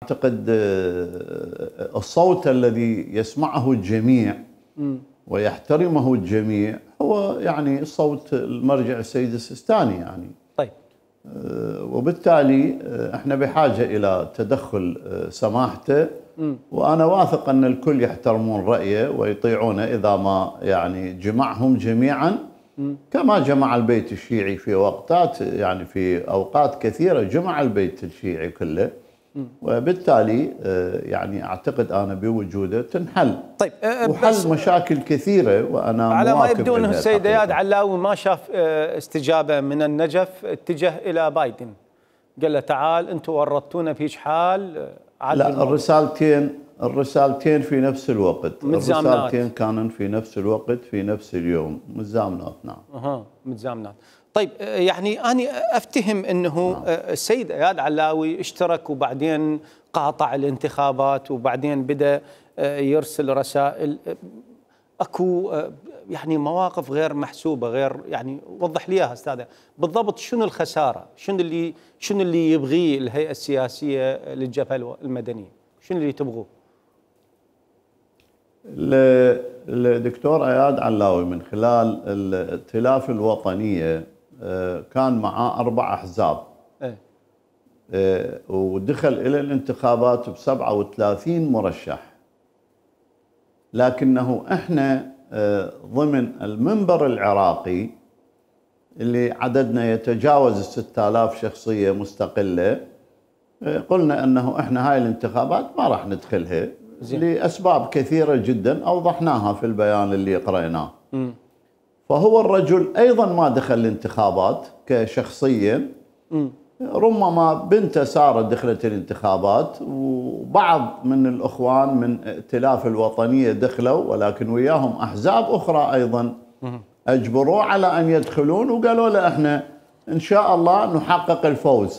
أعتقد الصوت الذي يسمعه الجميع ويحترمه الجميع هو يعني صوت المرجع السيد السيستاني يعني. طيب. وبالتالي احنا بحاجة إلى تدخل سماحته، وأنا واثق أن الكل يحترمون رأيه ويطيعونه إذا ما يعني جمعهم جميعا كما جمع البيت الشيعي في وقتات، يعني في أوقات كثيرة جمع البيت الشيعي كله، وبالتالي يعني أعتقد أنا بوجوده تنحل. طيب وحل مشاكل كثيرة، وأنا على ما يبدو أنه السيد الحقيقة. اياد علاوي ما شاف استجابة من النجف، اتجه إلى بايدن قال له تعال أنتم ورطتونا في حال. لا، الرسالتين في نفس الوقت، الرسالتين كانوا في نفس الوقت في نفس اليوم، متزامنات. نعم. متزامنات. طيب يعني أنا أفتهم أنه السيد اياد علاوي اشترك وبعدين قاطع الانتخابات وبعدين بدأ يرسل رسائل، اكو يعني مواقف غير محسوبة، غير يعني وضح لي اياها استاذ بالضبط. شنو الخسارة؟ شنو اللي يبغيه الهيئة السياسية للجبهة المدنية؟ شنو اللي تبغوه؟ الدكتور اياد علاوي من خلال الائتلاف الوطنية كان معاه 4 أحزاب، ودخل إلى الانتخابات ب37 مرشح، لكنه احنا ضمن المنبر العراقي اللي عددنا يتجاوز 6000 شخصية مستقلة، قلنا أنه احنا هاي الانتخابات ما راح ندخلها لأسباب كثيرة جدا أوضحناها في البيان اللي قرأناه. فهو الرجل أيضا ما دخل الانتخابات كشخصية، ربما بنته سارة دخلت الانتخابات، وبعض من الأخوان من ائتلاف الوطنية دخلوا، ولكن وياهم أحزاب أخرى أيضا أجبروه على أن يدخلون، وقالوا له احنا إن شاء الله نحقق الفوز.